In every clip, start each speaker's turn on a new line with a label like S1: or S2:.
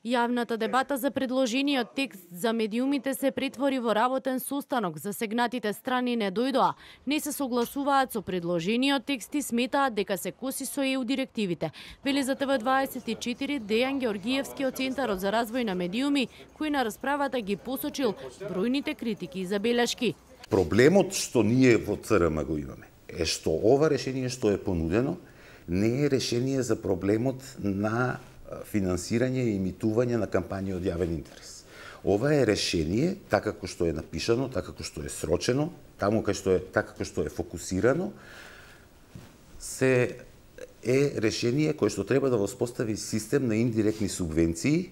S1: Јавната дебата за предложениот текст за медиумите се претвори во работен состанок. Засегнатите страни не дојдоа, не се согласуваат со предложениот текст и сметаат дека се коси со ЕУ директивите. Вели за ТВ24 Дејан Георгиевски од Центарот за развој на медиуми, кој на расправата ги посочил бројните критики и забелешки.
S2: Проблемот што ние во ЦРМ го имаме е што ова решение што е понудено не е решение за проблемот на финансирање и имитување на кампањи од јавен интерес. Ова е решение, така како што е напишано, така како што е срочено, така како што е фокусирано, е решение кое што треба да воспостави систем на индиректни субвенции,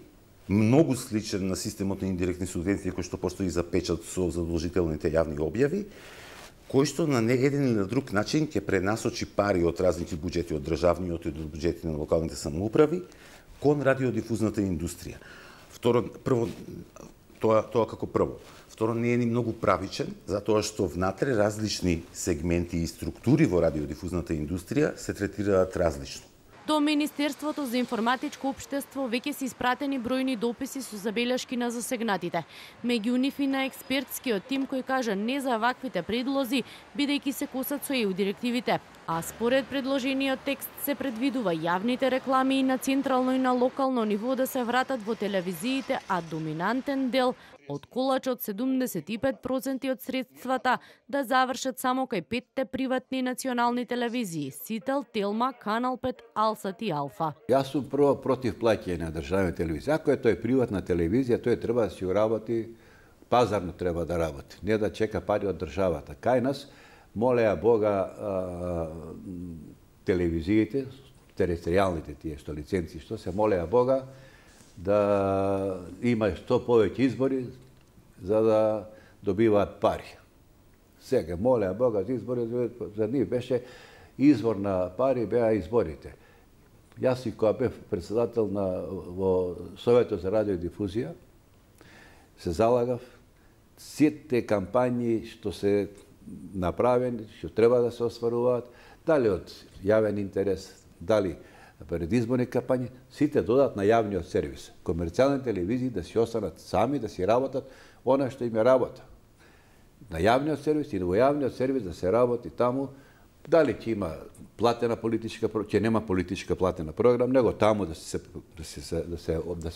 S2: многу сличен на системот на индиректни субвенции кој што постои за печат со задолжителните јавни објави, кој што на еден или на друг начин ќе пренасочи пари од различни буџети, од државниот и од буџети на локалните самоуправи кон радиодифузната индустрија. Прво, тоа како прво. Второ, не е ни многу правичен, затоа што внатре различни сегменти и структури во радиодифузната индустрија се третираат различно.
S1: До Министерството за информатичко општество веќе се испратени бројни дописи со забелешки на засегнатите. Меѓу нив и на експертскиот тим кој кажа не за ваквите предлози, бидејќи се косат со ЕУ директивите. А според предложениот текст се предвидува јавните реклами и на централно и на локално ниво да се вратат во телевизиите, а доминантен дел од колачот 75% од средствата да завршат само кај 5 приватни национални телевизии: Сител, Телма, Канал 5, Алсат и Алфа.
S3: Јас сум прво против плаќање на државна телевизија. Ако е тој приватна телевизија, тој треба да си работи, пазарно треба да работи, не да чека пари од државата. Кај нас, молеа Бога, телевизиите, територијалните тие што лиценци, што се молеа Бога, да има што повеќе избори за да добиваат пари. Сега молеа Бога за избори, за нив беше извор на пари, беа изборите. Јас и кога бев председател во Советот за радиодифузија, се залагав сите кампањи што се направени, што треба да се остваруваат, дали од јавен интерес, дали предизборни кампањи, сите додат на јавниот сервис. Комерцијални телевизии да си останат сами, да си работат она што им е работа. На јавниот сервис и во јавниот сервис да се работи таму, дали ќе има платена политичка, ќе нема политичка платена програм, него таму да се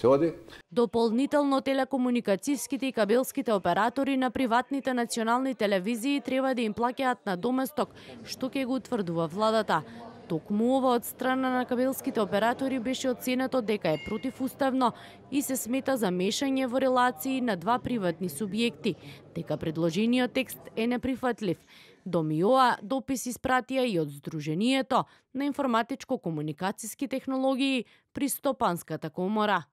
S3: оди.
S1: Дополнително телекомуникацијските и кабелските оператори на приватните национални телевизии треба да им плаќаат на доместок, што ќе го утврдува владата. Токму ова од страна на кабелските оператори беше оценето дека е противуставно и се смета за мешање во релации на два приватни субјекти, дека предложениот текст е неприфатлив. До МИОА допис испратија и од Сдруженијето на информатичко-комуникацијски технологии при Стопанската комора.